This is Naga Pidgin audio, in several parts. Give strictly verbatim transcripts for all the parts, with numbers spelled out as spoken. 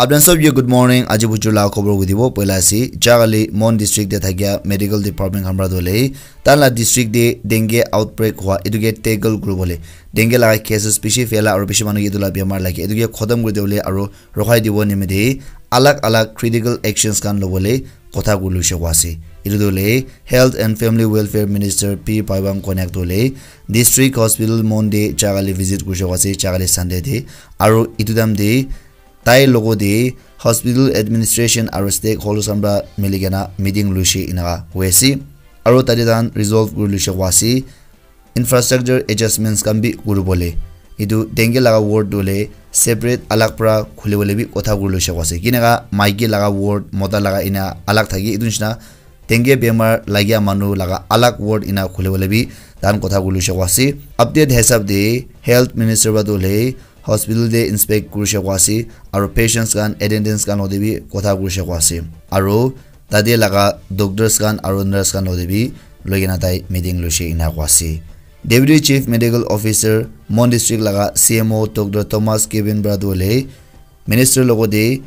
Apni sob ye good morning. Aji bujur la khobor koi dibo. Poila ase, Jagali Mon district te thakia medical department khan pra dole, tan la district te dengue outbreak hua, etu ke tackle kuribole, dengue laga cases bishi phaila aru bishi manu ke etu la bemar lage, etu ke khotom kuri dibole aru rokhai dibo nimite alag alag critical actions khan lobole kotha kuri luse koi ase. Etu dole Health and Family Welfare Minister P Paiwang Konyak dole District Hospital Mon te Jagali visit kuri luse koi ase, Jagali Sunday te. Aru etu time te tai logo te hospital administration aru stakeholders khan pra mili kena meeting luishe inaka hoi ase. Aru tate tahan resolve kuri luishe koi ase, infrastructure adjustments khan bi kuribole. Etu dengue laga ward tu hoile separate alag pra khulibole bi kotha kuri luishe koi ase. Kinaka maiki laga ward, mota laga ena alag thaki, etu nishina dengue bemar lagia manu laga alag ward ena khulibole bi tahan kotha kuri luishe koi ase. Update hisab te health minister pra tu hoile hospital te inspect kurishe koi ase, aru patients khan, attendants khan lote bi kotha kurishe koi ase, aru tate laga doctors khan aru nurse khan lote bi loi kena tai meeting luishe ena koi ase. Deputy Chief Medical Officer Mon District laga C M O Doctor Thomas Kevin pra tu hoile minister logo te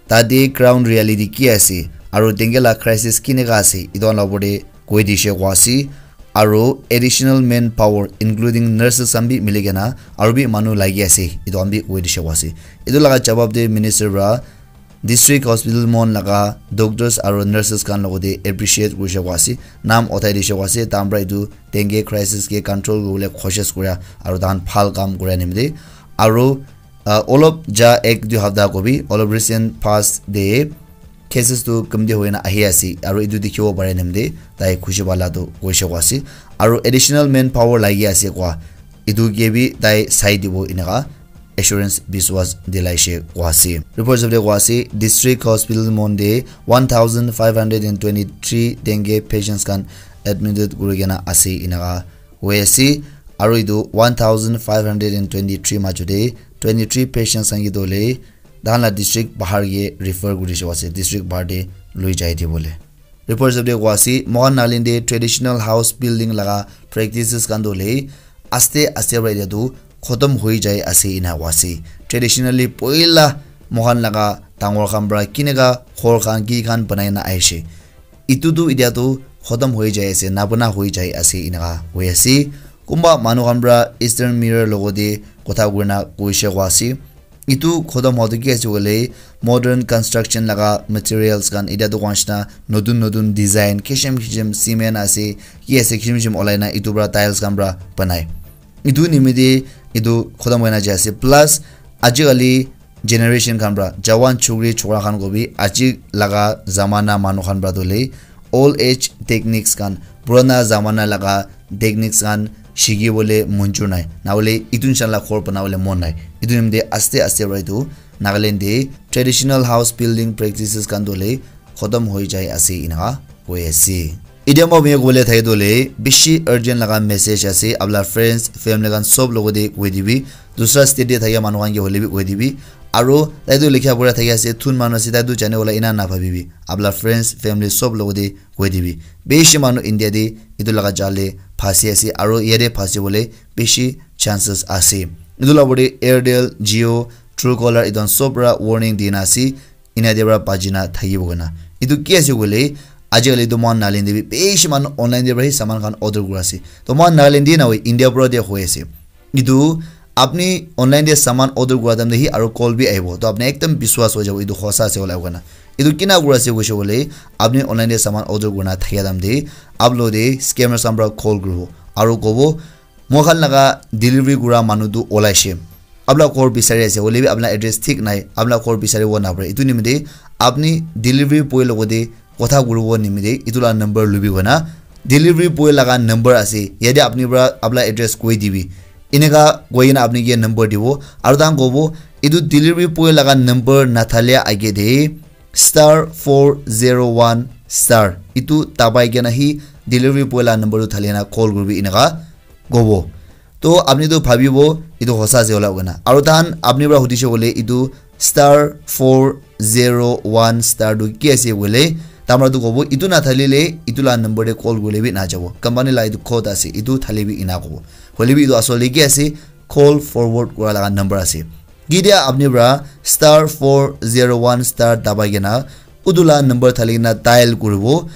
tate ground reality ki ase aru dengue la crisis kinaka ase, etu khan la opor te koi dishe koi ase. Aru additional manpower including nurses khan bi mili kena aru bi manu lagi ase, etu khan bi koi dishe koi ase. Etu laga jawab te minister pra district hospital Mon laga doctors aru nurses khan logo te appreciate kurishe koi ase, naam uthai dishe koi ase, tahan pra etu dengue crisis ke control kuribole koshish kura aru tahan bhal kam kura nimite. Aru uh, olop ja ek dui hafta kobi, olop recent past te cases tu kamti hoina ahi ase, aru etu dikhibo pare nimite tai khushi pala tu koishe koi ase, aru additional manpower lagi ase koi, etu ke bi tai sai dibo inaka assurance biswas dilaishe koi ase. Report sabde koi ase, District Hospital Mon te one thousand five hundred and twenty-three dengue patients khan admitted kuri kena ase inaka hoi ase, aru etu one thousand five hundred and twenty-three majo te twenty-three patients khan ke tu hoile tahan la district bahar ke refer kuri dishe koi ase, district bahar te loi jai dibole. Report sabde koi ase, moikhan Nagaland te traditional house building laga practices khan tu hoile aste aste pra etia tu khotom hoi jai ase ena koi ase. Traditionally poila moikhan laga dangor khan pra kinaka ghor khan ki khan banai na ahishe, etu tu etia tu khotom hoi jai ase, nabana hoi jai ase inaka hoi ase. Kunba manu khan pra Eastern Mirror logo te kotha kurina koishe koi ase, etu khotom hua tu ki ase koile modern construction laga materials khan, etia tu koi nishina notun notun design kishim kishim cement ase, ki ase kishim kishim olai na etu pra tiles khan pra banai. Etu nimite etu khotom hoina jai ase. Plus ajikali generation khan pra, jawan chukri chokra khan ko bi aji laga zamana manu khan pra tu hoile old age techniques khan, purana zamana laga techniques khan shikibole monjur nai, na hoile etu nishina la ghor banabole mon nai. Etu nimite aste aste pra etu Nagaland te traditional house building practices khan tu hoile khotom hoi jai ase inaka hoi ase. Etia moi apni kobole thaki tu hoile bishi urgent laga message ase, apna friends, family khan sob logo te koi dibi, dusra state te thakia manu khan ke hoile bi koi dibi. Aru tai tu likha pura thaki ase, thun manu ase, tai tu jane wala ena na bhabibi. Apna friends, family sob logo te koi dibi. Bishi manu India te etu laga jal te phasi ase, aru yate phasi bole bishi chances ase. Etu la opor te Airtel, Jio, Truecaller etu khan sob para warning dina ase, ena te para bachi na thakibo koina. Etu ki ase koile, ajikali tu moikhan Nagaland te bi bishi manu online te para hi saman khan order kuri ase. To moikhan Nagaland te nahoi, India para te hoi ase. Etu apni online te saman order kura time te hi aru call bi ahibo. To apni ekdam biswas hoi jabo, etu hosa ase kola koina. Etu kina kuri ase koise koile, apni online te saman order kurina thakia time te, aap logote scammers khan para call kuribo. Aru kobo, "Moikhan laga delivery kura manu tu olaishe. Apna ghor bisari ase, hoile bi apna address thik nai, apna ghor bisaribo napare. Etu nimite apni delivery boy logote kotha kuribo nimite etu la number lubi koina, delivery boy laga number ase, yate apni para apna address koi dibi." Eneka koi kena apni ke number dibo. Aru tahan kobo, "Etu delivery boy laga number nathalia age te star four zero one star, etu dabai kena hi delivery boy laga number tu thali kena call kuribi," eneka kobo. To apni tu bhabibo etu hosa ase hola koina. Aru tahan apni para hudishe koile etu star four zero one star tu ki ase koile, tamra tu kobo, "Etu nathalile etu la number te call kurile bi najabo. Company la etu code ase, etu thale bi," ena kobo. Hoile bi etu asole ki ase, call forward kura laga number ase. Ketia apni para star four zero one star dabai kena utu la number thali kena dial kuribo.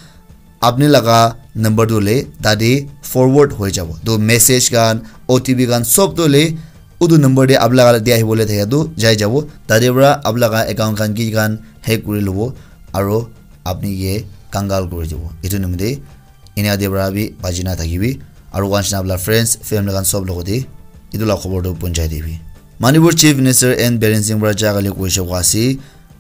Apni laga number tu le tate forward hoi jabo. To message khan, O T P khan sob tu le utu number te apni laga dia ahibole thaka tu jai jabo. Tate para apni laga account khan ki khan hack kuri lobo aro apni ke kangal kuri dibo. Etu nimite enia te para bi baji na thakibi. Aro once na apni la friends, family khan sob logote etu la khobor tu punjai dibi. Manipur Chief Minister N Biren Singh para jaga le koise koa ase.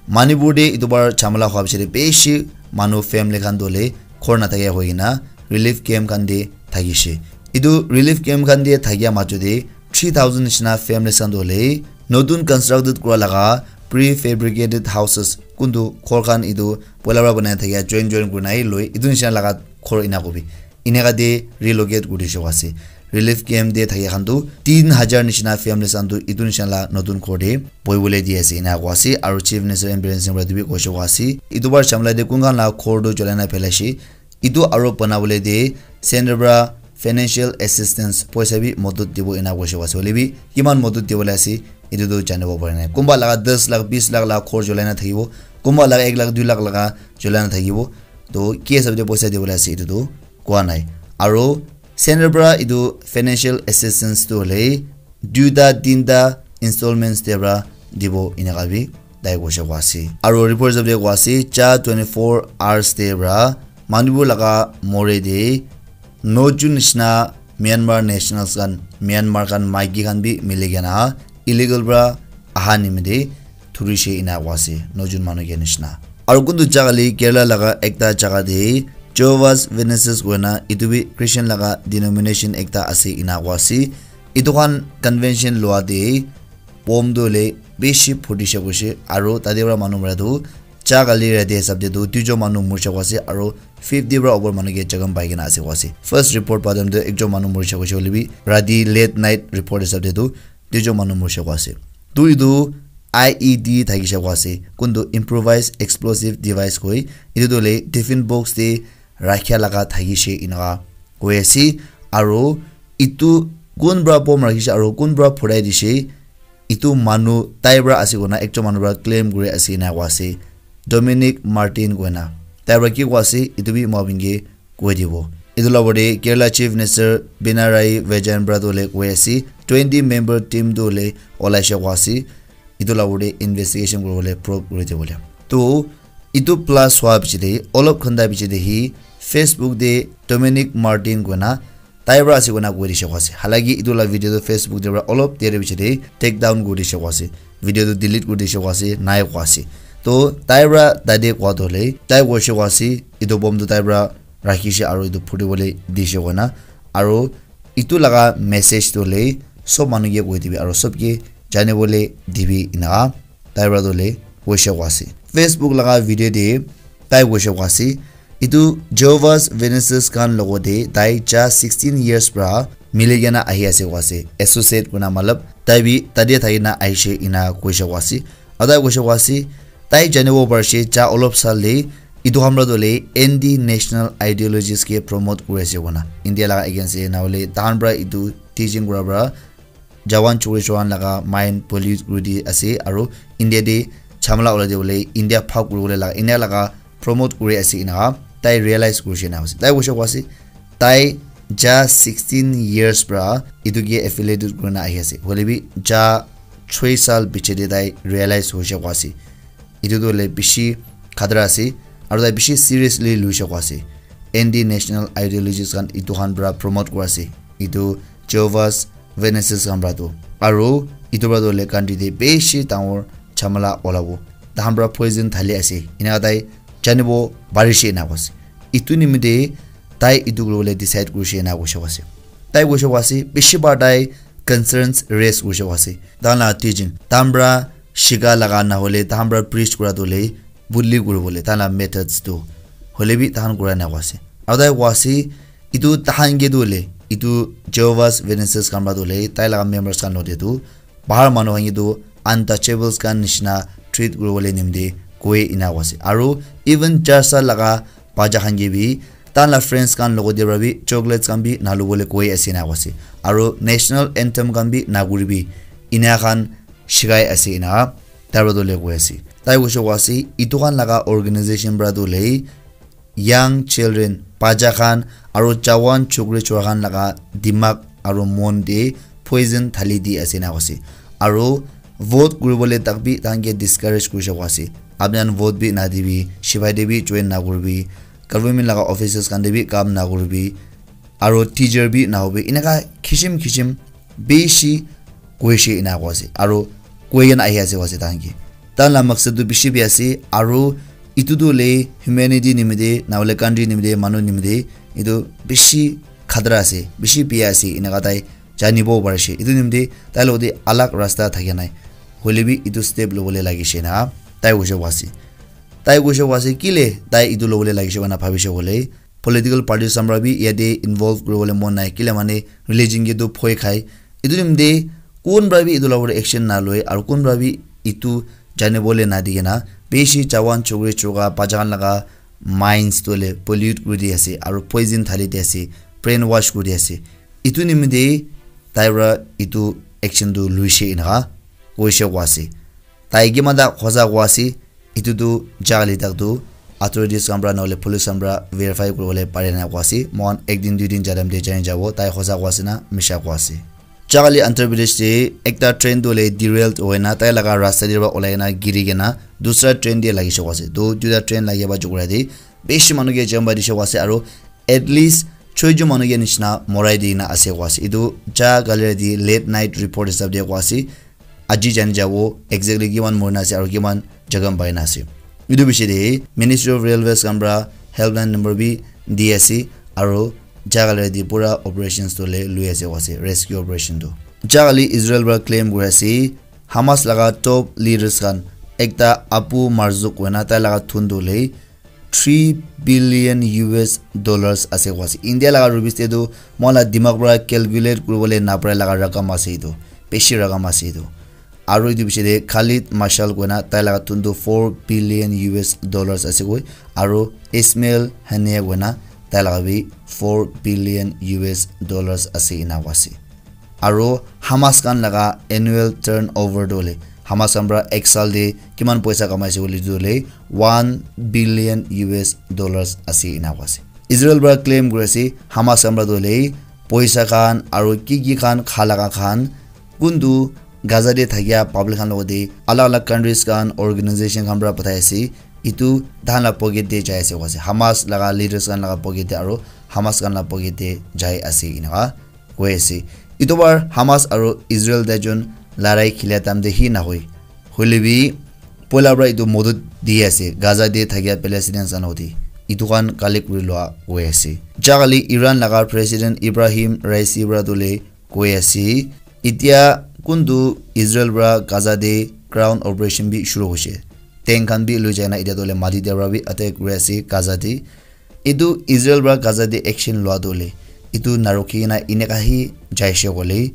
Manipur te etu bar jhamala hwa bichare bishi manu family khan dole khor na thake hoi kena relief camp khan te thakishe. Etu relief camp khan te thakia majo te three thousand nishina families khan dole notun constructed kura laga prefabricated houses kuntu khor khan etu poila para banai thakia join join kuri nai loi etu nishina laga khor ena kobi. Eneka te relocate kuri dishe ase. Relief camp te thaki khan tu tin hajar nishina families khan tu etu nishina la notun ghor te bohi bole di ase ena koa ase. Aro Chief Minister N Biren Singh para etu bi koise koa ase. Etu bar jhamala te kun khan la ghor tu jolai na phelaishe. Etu aro bana bole te center para financial assistance poisa bi modot dibo ena koise koa ase. Hoile bi kiman modot dibole ase etu tu janibo pare nai. Kunba laga das lakh, bis lakh la ghor jolai na thakibo. Kunba laga ek lakh, dui lakh laga jolai na thakibo. To ki hisab te poisa dibole ase etu tu koa nai. Aro center para etu financial assistance tu hoile duita tinta installments te para dibo eneka bi tai koise koa ase. Aro report hisab te koa ase ja twenty four hours te para Manipur laga more te no jun nishina Myanmar nationals khan, Myanmar khan maiki khan bi mili kena illegal para aha nimite thurishe ena koa ase, no jun manu ke nishina. Aro kuntu jaga le Kerala laga ekta jaga te Jehovah's Witnesses koina etu bi Christian laga denomination ekta ase ena koa ase. Etu khan convention lua te bomb tu le bishi phutishe koishe aro tate para manu mara tu jaga le rate hisab te tu duijon manu murishe koa ase aro fifty para upor manu ke jakham pai kena ase koa ase. First report pa time tu ekjon manu murishe koishe hoile bi rati late night report hisab te tu duijon manu murishe koa ase. Tu etu I E D thakishe koa ase. Kuntu improvised explosive device koi. Etu tu hoile tiffin box te rakhia laga thakishe eneka koi ase. Aro etu kun para bomb rakhishe aro kun para phurai dishe. Etu manu tai para ase koina ekjon manu para claim kuri ase ena koa ase. Dominic Martin koina. Tai para ki koa ase, etu bi moi apni ke koi dibo. Etu la opor te Kerala Chief Minister Pinarayi Vijayan para tu hoile koi ase, twenty member team tu hoile olaishe koa ase. Etu la opor te investigation kuri bole probe kuri dibo le. To etu blast hwa piche te olop ghanta piche te hi Facebook te Dominic Martin koina tai para ase koina koi dishe koa ase. Halaki etu la video tu Facebook te para olop dere piche te take down kuri dishe koa ase. Video tu delete kuri dishe koa ase, nai koa ase. To tai para tate koa tu hoile tai koishe koa ase etu bomb tu tai para rakhishe aro etu phuti bole dishe koina. Aro etu laga message tu hoile sob manu ke koi dibi aro sob ke jani bole dibi eneka tai para tu hoile koishe koa ase. Facebook laga video te tai koishe koa ase. Etu Jehovah's Witnesses khan logote tai ja sixteen years para mili kena ahi ase koa ase. Associate koina matlab tai bi tate thaki na ahishe ena koishe koa ase. Aro tai koishe koa ase, tai janibo parishe ja olop sal te etu khan para tu hoile anti national ideologies ke promote kuri ase koina. India laga against te na hoile tahan para etu teaching kura para Jawan chori chawan laga mind pollute kuri di ase aro India te jhamala ulai dibole, India bhag kuri bole laga, India laga promote kuri ase eneka tai realize kurishe ena ase. Tai koishe koa ase, tai ja sixteen years para etu ke affiliated kuri na ahi ase. Hoile bi ja choi sal piche te tai realize hoishe koa ase. Etu tu hoile bishi khatara ase, aro tai bishi seriously luishe koa ase. Anti national ideologies khan etu khan para promote kura ase. Etu Jehovah's Witnesses khan para tu. Aro etu para tu hoile country te bishi dangor jhamala olabo. Tahan para poison thali ase. Eneka tai janibo parishe ena koa ase. Etu nimite tai etu kuri bole decide kurishe ena koishe koa ase. Tai koishe koa ase, bishi bar tai concerns raise kurishe koa ase. Tahan la teaching, tahan para shika laga na hoile, tahan para preach kura tu hoile, bully kuri bole, tahan la methods tu. Hoile bi tahan kura ena koa ase. Aro tai koa ase, etu tahan ke tu hoile, etu Jehovah's Witnesses khan para tu hoile, tai laga members khan logote tu, bahar manu khan ke tu untouchables khan nishina treat kuri bole nimite koi ena koa ase. Aro even church laga bacha khan ke bi, tahan la friends khan logote para bi chocolates khan bi na lubole koi ase ena koa ase. Aro national anthem khan bi na kuribi. Ena khan shikai ase ena tai para tu le koi ase. Tai koise koa ase, itu khan laga organization para tu le young children, bacha khan, aro jawan chukri chura khan laga dimag aro mon te poison thali di ase ena koise. Aro vote kuribole tak bi tahan ke discourage kurishe koa ase. Apni khan vote bi nadibi, shibai te bi join nakuribi, government laga offices khan te bi kam nakuribi, aro teacher bi nahobi. Eneka kishim kishim bishi koishe ena koa ase. Aro koi kena ahi ase koa ase tahan ke. Tahan la maksad tu bishi bi ase, aro itu tu le humanity nimite, nahole country nimite, manu nimite, itu bishi khatra ase, bishi biya ase, eneka tai janibo parishe. Itu nimite tai logote alag rasta thakia nai. Hoile bi itu step lobole lagishe na, tai koishe koa ase. Tai koishe koa ase, kile tai itu lobole lagishe koina bhabishe koile, political party samra bi yate involve kuribole mon nai, kile mane religion ke tu phoi khai. Itu nimite kun para bi itu la opor te action naloi, aro kun para bi itu janibole nadi kena, bishi jawan chukri chuka bacha khan laga minds tu le pollute kuri di ase, aro poison thali di ase, brainwash kuri di ase. Itu nimite tai para itu action tu luishe eneka koishe koa ase. Tai kiman ta hosa koa ase, itu tu jali tak tu authorities khan para nahole police khan para verify kuribole pare na koa ase. Moikhan ek din dui din jadam te jani jabo, tai hosa koa ase na misha koa ase. Jali Andhra Pradesh te ekta train tu le derail hoina tai laga rasta te para olai na giri kena dusra train te lagishe koa ase. Tu duita train lagia ba jukura te bishi manu ke jam ba dishe koa ase, aro at least choi jon manu ke nishina morai di na ase koa ase. Itu jali te late night report hisab te koa ase. Aji jani jabo exactly kiman morina ase aro kiman jakham paina ase. Itu bishi te Ministry of Railways khan para helpline number bi di ase, aro jali te pura operations tu le lui ase koa ase, rescue operation tu. Jali Israel para claim kuri ase, Hamas laga top leaders khan ekta Abu Marzuk koina tai laga thun tu le three billion U S dollars ase koa ase. India laga rupees te tu moi la dimag para calculate kuribole napare laga rakam ase etu. Bishi rakam ase etu. Aro etu piche te Khalid Mashal koina tai laga thun tu four billion U S dollars ase koi. Aro Ismail Haniyeh koina tai laga bi four billion U S dollars ase ena koa ase. Aro Hamas khan laga annual turnover tu hoile, Hamas khan para ek saal te kiman poisa kamai ase koile tu hoile one billion U S dollars ase ena koa ase. Israel para claim kuri ase Hamas khan para tu hoile poisa khan aro ki ki khan kha laga khan kuntu Gaza te thakia public khan logote alag alag countries khan organization khan para pathai ase, etu tahan la pocket te jai ase koa ase. Hamas laga leaders khan laga pocket te aro Hamas khan la pocket te jai ase eneka koi ase. Etu bar Hamas aro Israel taijon larai khilia time te hi nahoi. Hoile bi poila para etu modot di ase Gaza te thakia Palestinians khan logote. Etu khan collect kuri lua koi ase. Jali Iran laga President Ibrahim Raisi para tu hoile koi ase, etia kuntu Israel para Gaza te ground operation bi shuru hoise. Tank khan bi lui jaina etia tu hoile mati te para bi attack kuri ase Gaza te. Etu Israel para Gaza te action lua tu hoile etu narukhi kena eneka hi jaise koile,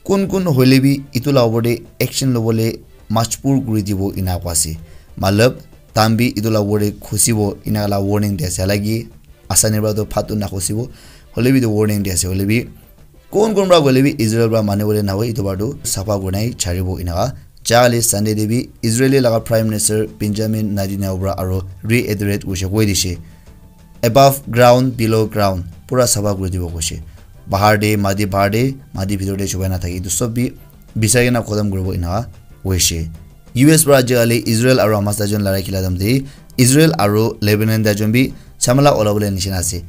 kun kun hoile bi etu la opor te action lobole majbur kuri dibo ena koa ase. Matlab, tahan bi etu la opor te khusibo eneka la warning di ase. Halaki asani para tu phat tu nakhusibo, hoile bi etu warning di ase. Hoile bi kun kun para koile bi Israel para mani bole nahoi, etu para tu sapha kurina hi charibo eneka. Jali Sunday te bi Israeli laga Prime Minister Benjamin Netanyahu para aro reiterate kurishe koi dishe, above ground, below ground, pura sapha kuri dibo koishe. Bahar te mati, bahar te mati, bhitor te chubai na thaki, etu sob bi bisai kena khotom kuribo eneka koishe. U S para ajikali Israel aro Hamas taijon larai khilia time te Israel aro Lebanon taijon bi jhamela olabole nishina ase.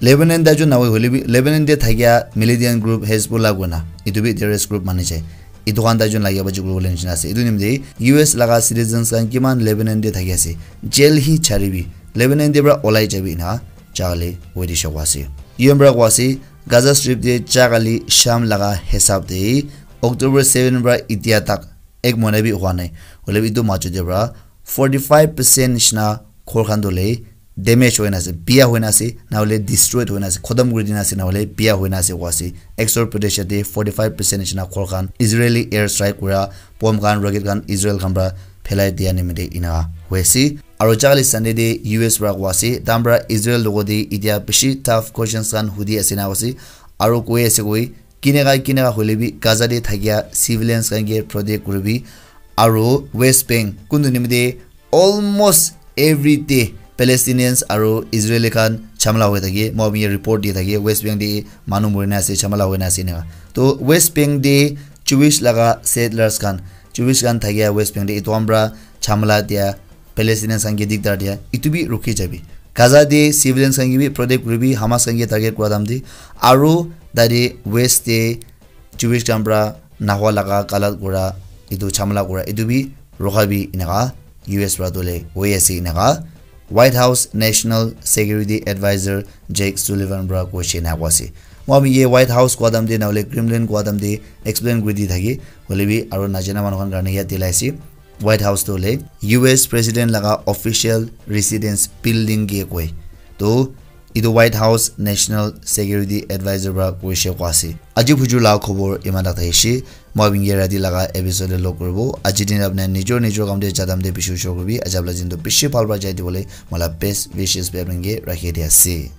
Lebanon taijon nahoi hoile bi Lebanon te thakia militant group Hezbollah koina, etu bi terrorist group mani jai. Etu khan taijon lagia baji kuribole nishina ase. Etu nimite U S laga citizens khan kiman Lebanon te thaki ase, jail hi charibi, Lebanon te para olai jabi ena jali wait dishe koa ase. U N para koa ase Gaza Strip te jali Sham laga hisab te October seven para etia tak ek mohina bi hua nai. Hoile bi etu majo te para forty five percent nishina ghor khan tu hoile damage hoina ase, biya hoina ase, na hoile destroyed hoina ase, khotom kuri dina ase, na hoile biya hoina ase koa ase. Exor Pradesh te forty five percent nishina ghor khan Israeli air strike kura, bomb khan, rocket khan Israel khan para phelai dia nimite ena hoi ase. Aro jali Sunday te U S para koa ase, tahan para Israel logote etia bishi tough questions khan hudi ase na koa ase. Aro koi ase koi, kineka kineka hoile bi Gaza te thakia civilians khan ke protect kuribi, Aro West Bank kuntu nimite almost every day Palestinians aro Israeli khan chamla hoi thake, moi bi report di thake, West Bank de manu mori na ase, chamla hoi na ase ena. To West Bank de Jewish laga settlers khan, Jewish khan thakia West Bank de itu ambra chamla dia, Palestinians khan ke dikdar dia, itu bi rukhi jabi. Gaza de civilians khan ke bi protect kuribi, Hamas khan ke target kura dam de, aro tade West de Jewish khan pra nahwa laga galat kura, itu chamla kura, itu bi rukha bi enaka U S pra tole hoi ase enaka White House National Security Advisor Jake Sullivan pra koishe enaka ase. Moi ami ye White House kwadam de na hole Kremlin kwadam de explain kuri di thaki, hole bi aro najana manu khan karne yat dilai ase. White House to hole U S President laga official residence building ke koi. To itu White House National Security Advisor pra koishe kwa ase. Aji phujur la khobor iman tak thakishi. Moi abin ke rati laga episode lo kuribo. Aji din apna nijor nijor kam de jadam de bishi ushor kuribi. Ajab la jin to bishi bhal pra jai dibole mola best wishes bi apin ke rakhi di ase.